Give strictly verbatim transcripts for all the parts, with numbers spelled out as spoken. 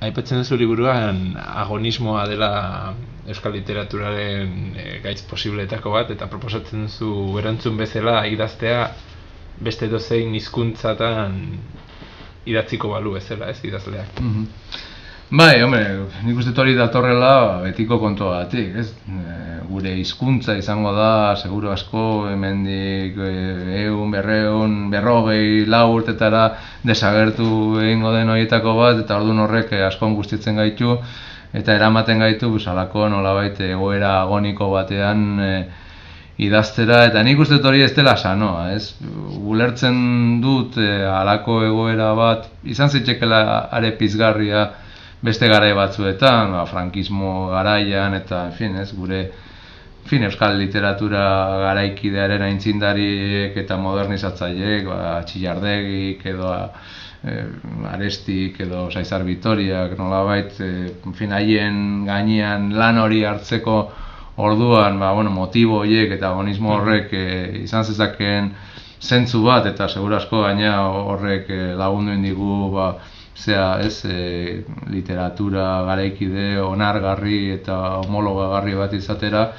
Aipatzen duzu liburuan agonismoa dela euskal literaturaren e, gaitz posibleetako bat, eta proposatzen duzu erantzun bezala idaztea beste dozein hizkuntzatan idatziko balu bezala, ez, idazleak. Mm-hmm. Bai, hombre, nik uste hori datorrela betiko kontuagatik, ez? E, gure hizkuntza izango da, seguru asko, hemendik ehun, berreun, berrogei, lau urtetara desagertu egingo den horietako bat, eta orduan horrek asko angustiatzen gaitu, eta eramaten gaitu, halako nolabait egoera agoniko batean e, idaztera, eta nik uste hori ez dela sanoa, ez? Ulertzen dut halako egoera bat, izan zitekela are pizgarria beste garai batzuetan, ba, frankismo garaian, eta, en fin, ez, gure en fin, euskal literatura garaikidearen aintzindariek eta modernizatzaileek, ba, Txillardegik edo e, Arestik edo Saizar Vitoriak, nolabait, e, en fin, haien gainean lan hori hartzeko orduan, ba, bueno, motibo horiek eta agonismo horrek e, izan zezakeen zentzu bat, eta seguru asko gaina horrek e, lagundu indigu, ba, zera, ez, e, literatura garaikide onargarri eta homologagarri bat izatera,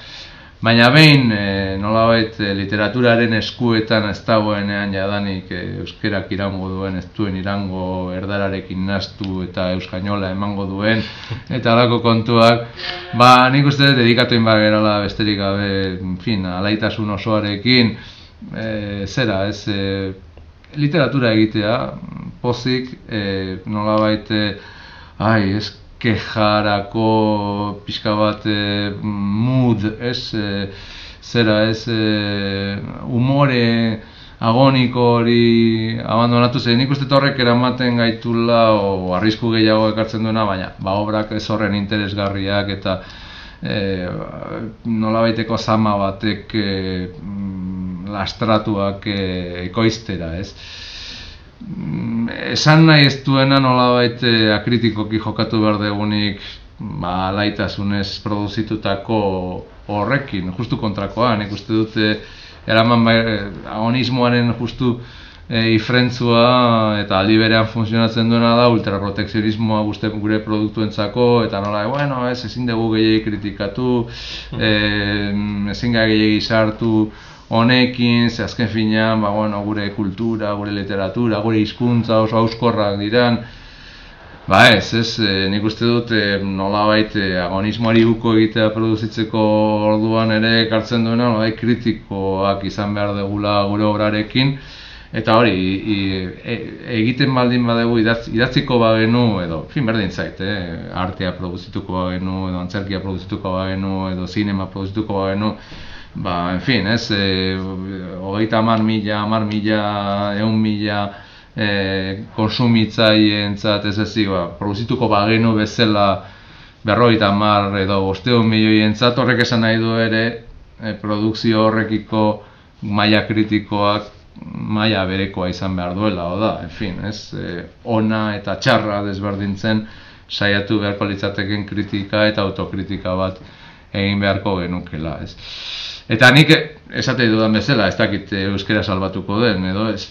baina behin e, nolabait e, literaturaren eskuetan ez dagoenean jadanik e, euskerak irango duen, ez duen irango erdararekin nastu eta euskainola emango duen, eta halako kontuak, ba, nik uste dedikatuin bat gerala besterik gabe, en fin, alaitasun osoarekin, e, zera, ez, e, literatura egitea, pozik, e, nolabait, e, ai, ez, kejarako pixka bat e, mood, ez, e, zera, ez, e, umore agoniko hori abandonatu zen, nik uste horrek eramaten gaitula, o arrisku gehiago ekartzen duena, baina, ba, obrak ez horren interesgarriak, eta e, nolabaiteko zama batek e, lastratuak e, ekoiztera, ez? Esan nahi ez duena nolabait e, akritikoki jokatu behar degunik, ba, alaitasunez produzitutako horrekin, justu kontrakoa, nik uste dute eraman bai, agonismoaren justu e, ifrentzua eta aldi berean funtzionatzen duena da ultraprotekzionismoa guzti gure produktuentzako, eta nola, bueno, ez, ezin dugu gehiagi kritikatu, e, ezin gehiagi sartu honekin, ze azken finean, ba, bueno, gure kultura, gure literatura, gure hizkuntza oso hauskorrak diran, ba ez, ez, e, nik uste dut e, nolabait e, agonismoari uko egitea produzitzeko orduan ere ekartzen duena, nolabait kritikoak izan behar degula gure obrarekin, eta hori, i, e, egiten baldin badegu idatz, idatziko bagenu, edo, fin, berdin zait, eh, artea produzituko bagenu, edo antzerkia produzituko bagenu, edo zinema produzituko bagenu, ba, en fin, ez, e, hogeita hamar mila, hamar mila, ehun mila e, konsumitzaientzat ez ezik, ba, produzituko bagenu bezala berrogeita hamar edo bostehun milioientzat, horrek esan nahi du ere e, produkzio horrekiko maila kritikoak maila berekoa izan behar duela, oda, en fin, ez, e, ona eta txarra desberdintzen saiatu beharko litzateken kritika eta autokritika bat egin beharko genukela, ez. Eta nik esate dudan bezala, ez dakit euskera salbatuko den, edo ez,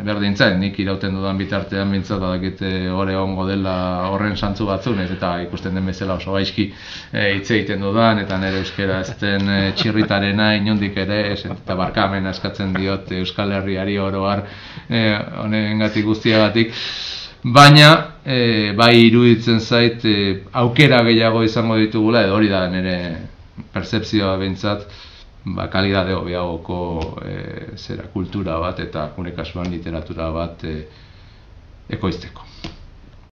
berdintzen, nik irauten dudan bitartean bintzat badakit hor egongo dela horren santzu batzunez, eta ikusten den bezala oso gaizki hitz egiten dudan, eta nire euskera ez den e, txirritarena inondik ere, ez, eta barkamena eskatzen diot Euskal Herriari oro har e, honengatik guztiagatik, baina e, bai iruditzen zait e, aukera gehiago izango ditugula, edo hori da nire pertzepzioa behintzat, ba, kalidade hobeagoko e, zera kultura bat eta gure kasuan literatura bat e, ekoizteko.